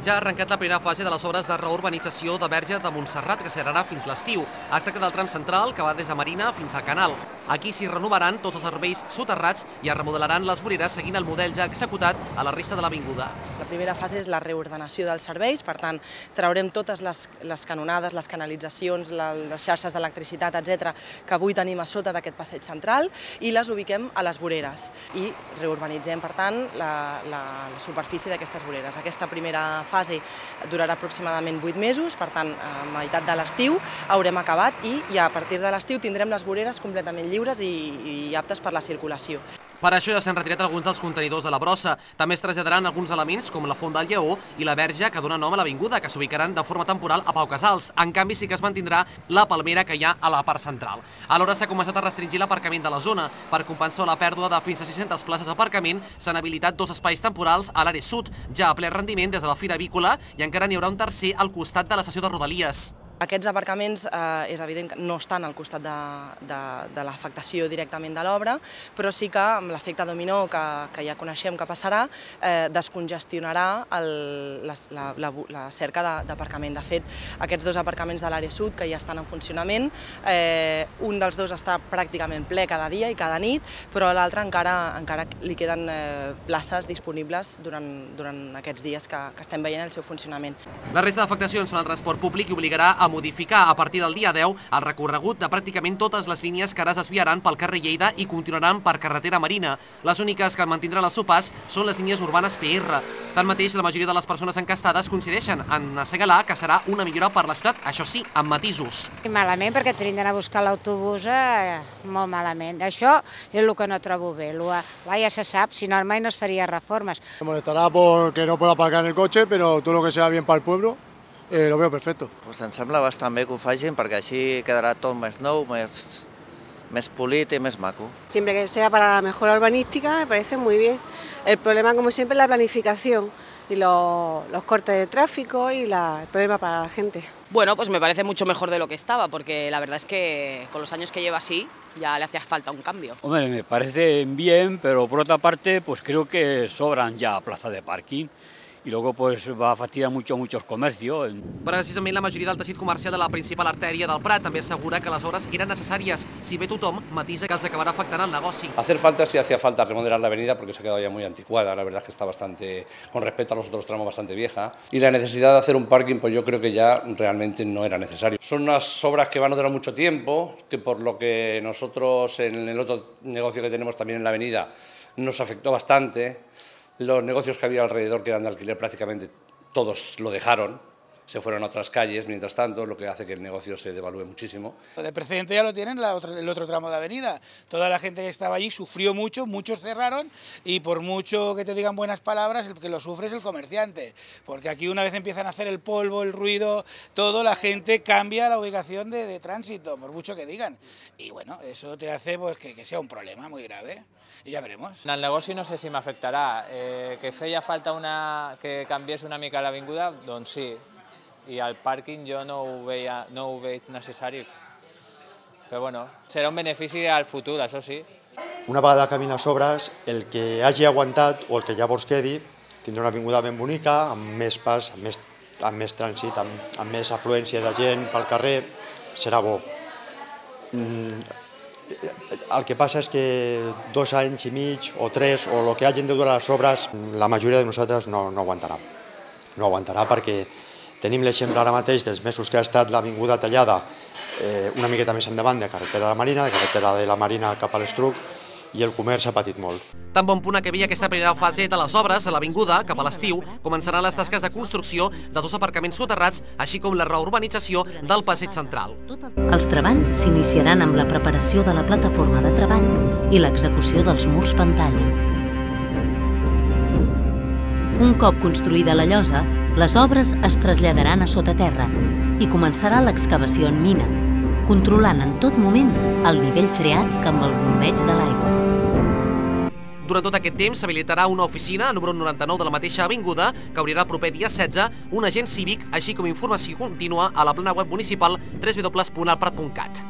Ja ha arrencat la primera fase de les obres de reurbanització de Verge de Montserrat, que s'allargarà fins l'estiu. Es tracta del tram central, que va des de Marina fins al Canal. Aquí s'hi renovaran tots els serveis soterrats i es remodelaran les voreres seguint el model ja executat a la resta de l'avinguda. La primera fase és la reordenació dels serveis, per tant, traurem totes les canonades, les canalitzacions, les xarxes d'electricitat, etc., que avui tenim a sota d'aquest passeig central i les ubiquem a les voreres i reurbanitzem, per tant, la superfície d'aquestes voreres. Aquesta primera fase durarà aproximadament 8 mesos, per tant, a meitat de l'estiu haurem acabat i a partir de l'estiu tindrem les voreres completament lliures i aptes per la circulació. Per això ja s'han retirat alguns dels contenidors de la brossa. També es traslladaran alguns elements com la Font del Lleó i la Verge que dona nom a l'avinguda, que s'ubicaran de forma temporal a Pau Casals. En canvi, sí que es mantindrà la palmera que hi ha a la part central. Alhora s'ha començat a restringir l'aparcament de la zona. Per compensar la pèrdua de fins a 600 places d'aparcament, s'han habilitat 2 espais temporals a l'àrea sud, ja a ple rendiment des de la Fira Avícola, i encara n'hi haurà un tercer al costat de l'estació de Rodalies. Aquests aparcaments és evident que no estan al costat de l'afectació directament de l'obra, però sí que amb l'efecte dominó que ja coneixem que passarà, descongestionarà la cerca d'aparcament. De fet, aquests 2 aparcaments de l'àrea sud que ja estan en funcionament, un dels 2 està pràcticament ple cada dia i cada nit, però a l'altre encara li queden places disponibles durant aquests dies que estem veient el seu funcionament. La resta d'afectacions són el transport públic i obligarà a modificar a partir del dia 10 el recorregut de pràcticament totes les línies que ara es desviaran pel carrer Lleida i continuaran per carretera Marina. Les úniques que mantindran el seu pas són les línies urbanes PR. Tanmateix, la majoria de les persones encastades coincideixen en assenyalar que serà una millora per la ciutat, això sí, amb matisos. Malament, perquè tenim d'anar a buscar l'autobús molt malament. Això és el que no trobo bé. Ja se sap, si no mai no es faria reformes. Me molestará porque no puedo aparcar en el coche, pero todo lo que sea bien para el pueblo lo veo perfecto. Pues em sembla bastant bé que ho facin perquè així quedarà tot més nou, més polit y más maco. Siempre que sea para la mejora urbanística me parece muy bien. El problema, como siempre, es la planificación y los cortes de tráfico y el problema para la gente. Bueno, pues me parece mucho mejor de lo que estaba, porque la verdad es que con los años que lleva así ya le hacía falta un cambio. Hombre, me parece bien, pero por otra parte pues creo que sobran ya plazas de parking. I luego pues va a fastidiar muchos comercios. Precisament la majoria del teixit comercial de la principal artèria del Prat també assegura que les obres eren necessàries, si bé tothom matisa que els acabarà afectant el negoci. Hacer falta, sí hacía falta remodelar la avenida porque se ha quedado ya muy anticuada, la verdad es que está bastante, con respecto a los otros tramos, bastante vieja. Y la necesidad de hacer un parking, pues yo creo que ya realmente no era necesario. Son unas obras que van a durar mucho tiempo, que por lo que nosotros en el otro negocio que tenemos también en la avenida nos afectó bastante. Los negocios que había alrededor, que eran de alquiler, prácticamente todos lo dejaron, se fueron a otras calles, mientras tanto, lo que hace que el negocio se devalúe muchísimo. De precedente ya lo tienen el otro tramo de avenida. Toda la gente que estaba allí sufrió mucho, muchos cerraron y por mucho que te digan buenas palabras, el que lo sufre es el comerciante. Porque aquí una vez empiezan a hacer el polvo, el ruido, todo, la gente cambia la ubicación de tránsito, por mucho que digan. Y bueno, eso te hace pues, que sea un problema muy grave. I ja veremos. El negoci no sé si m'afectarà. Que feia falta que canviés una mica l'avinguda, doncs sí. I el pàrquing jo no ho veig necessari. Però bueno, serà un benefici al futur, això sí. Una vegada acabin les obres, el que hagi aguantat o el que llavors quedi tindrà una avinguda ben bonica, amb més pas, amb més trànsit, amb més afluència de gent pel carrer, serà bo. El que passa és que 2 anys i mig o 3 o el que hagin de durar les obres, la majoria de nosaltres no aguantarà. No aguantarà perquè tenim l'exemple ara mateix dels mesos que ha estat l'avinguda tallada una miqueta més endavant de carretera de la Marina cap a l'Estruc, i el comerç ha patit molt. Tan bon punt que havia aquesta primera fase de les obres a l'avinguda, cap a l'estiu, començaran les tasques de construcció dels 2 aparcaments soterrats, així com la reurbanització del passeig central. Els treballs s'iniciaran amb la preparació de la plataforma de treball i l'execució dels murs pantalla. Un cop construïda la llosa, les obres es traslladaran a sota terra i començarà l'excavació en mina, controlant en tot moment el nivell freàtic amb el bombeig de l'aigua. Durant tot aquest temps s'habilitarà una oficina, número 99 de la mateixa avinguda, que obrirà el proper dia 16, un agent cívic, així com informació contínua a la plana web municipal www.alprat.cat.